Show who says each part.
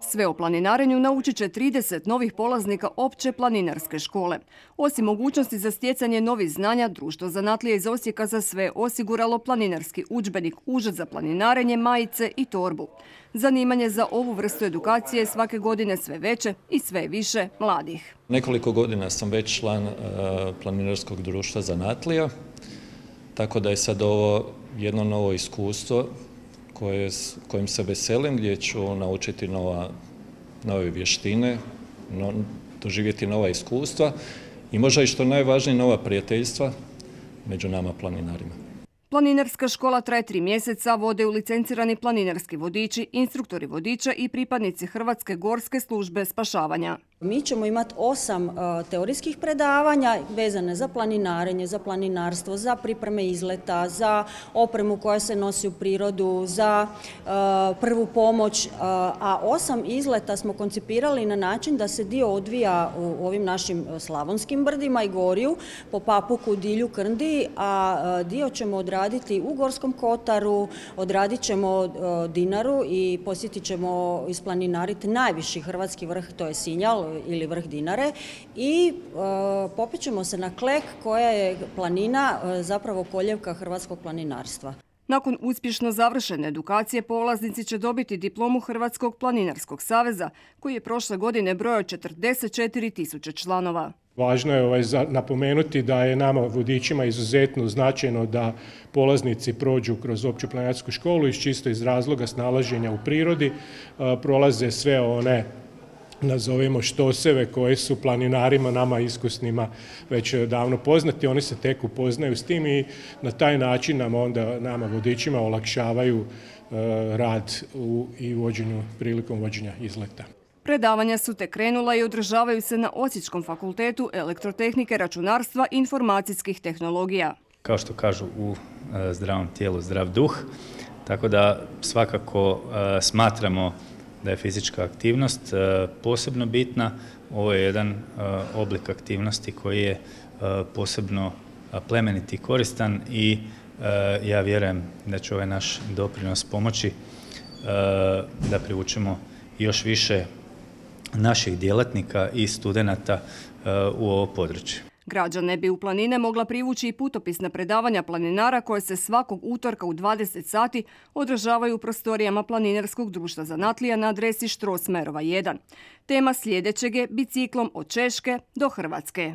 Speaker 1: Sve o planinarenju naučit će 30 novih polaznika opće planinarske škole. Osim mogućnosti za stjecanje novih znanja, Društvo zanatlija iz Osijeka za sve osiguralo planinarski udžbenik, užad za planinarenje, majice i torbu. Zanimanje za ovu vrstu edukacije svake godine sve veće i sve više mladih.
Speaker 2: Nekoliko godina sam već član Planinarskog društva zanatlija, tako da je sad ovo jedno novo iskustvo kojim se veselim, gdje ću naučiti nove vještine, doživjeti nova iskustva i možda i što najvažnije nova prijateljstva među nama planinarima.
Speaker 1: Planinarska škola traje 3 mjeseca, vode ju licencirani planinarski vodiči, instruktori vodiča i pripadnici Hrvatske gorske službe spašavanja.
Speaker 3: Mi ćemo imati 8 teorijskih predavanja vezane za planinarenje, za planinarstvo, za pripreme izleta, za opremu koja se nosi u prirodu, za prvu pomoć, a 8 izleta smo koncipirali na način da se dio odvija u ovim našim slavonskim brdima i gorju, po Papuku, Dilju, Krndiji, a dio ćemo odraditi u Gorskom kotaru, odradit ćemo Dinaru i posjetit ćemo isplaninariti najviši hrvatski vrh, to je Sinjal ili vrh Dinare, i popećemo se na Klek koja je planina, zapravo koljevka hrvatskog planinarstva.
Speaker 1: Nakon uspješno završene edukacije polaznici će dobiti diplomu Hrvatskog planinarskog saveza koji je prošle godine brojao 44.000 članova.
Speaker 4: Važno je napomenuti da je nama vodičima izuzetno značajno da polaznici prođu kroz opću planinarsku školu čisto iz razloga snalaženja u prirodi, prolaze sve one, nazovimo, štoseve koje su planinarima, nama iskusnima, već davno poznati. Oni se tek upoznaju s tim i na taj način nama vodičima olakšavaju rad i prilikom vođenja izleta.
Speaker 1: Predavanja su tek krenula i održavaju se na Osječkom fakultetu elektrotehnike, računarstva i informacijskih tehnologija.
Speaker 5: Kao što kažu, u zdravom tijelu zdrav duh, tako da svakako smatramo da je fizička aktivnost posebno bitna. Ovo je jedan oblik aktivnosti koji je posebno plemenit i koristan i ja vjerujem da će ovaj naš doprinos pomoći da privučemo još više naših djelatnika i studenata u ovo područje.
Speaker 1: Građane bi u planine mogla privući i putopisna predavanja planinara koje se svakog utorka u 20 sati održavaju u prostorijama Planinarskog društva zanatlija na adresi Štrosmerova 1. Tema sljedećeg je biciklom od Češke do Hrvatske.